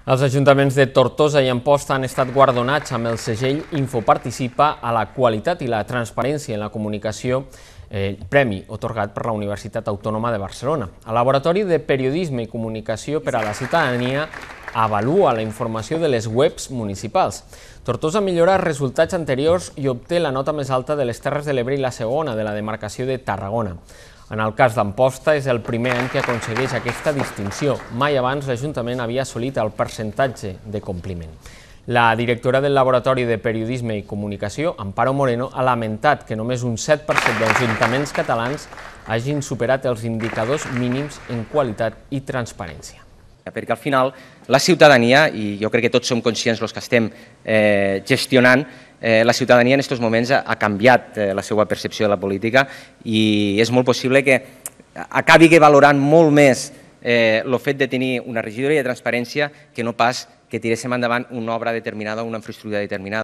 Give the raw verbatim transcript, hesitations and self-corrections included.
Els ajuntaments de Tortosa i Amposta han estat guardonats amb el segell Infoparticipa a la qualitat i la transparència en la comunicació, eh, premi otorgat per la Universitat Autònoma de Barcelona. El Laboratori de Periodisme i Comunicació per a la Ciutadania avalua la informació de les webs municipals. Tortosa millora els resultats anteriors i obté la nota més alta de les Terres de l'Ebre i la segona de la demarcació de Tarragona. En el cas d'Amposta, és el primer any que aconsegueix aquesta distinció. Mai abans l'Ajuntament havia assolit el percentatge de compliment. La directora del Laboratori de Periodisme i Comunicació, Amparo Moreno, ha lamentat que només un set per cent dels ajuntaments catalans hagin superat els indicadors mínims en qualitat i transparència. Perquè al final la ciutadania, i jo crec que tots som conscients els que estem eh, gestionant, eh, la ciutadania en aquests moments ha, ha canviat eh, la seva percepció de la política i és molt possible que acabi valorant molt més eh, el fet de tenir una regidoria de transparència que no pas que tiréssim endavant una obra determinada o una infraestructura determinada.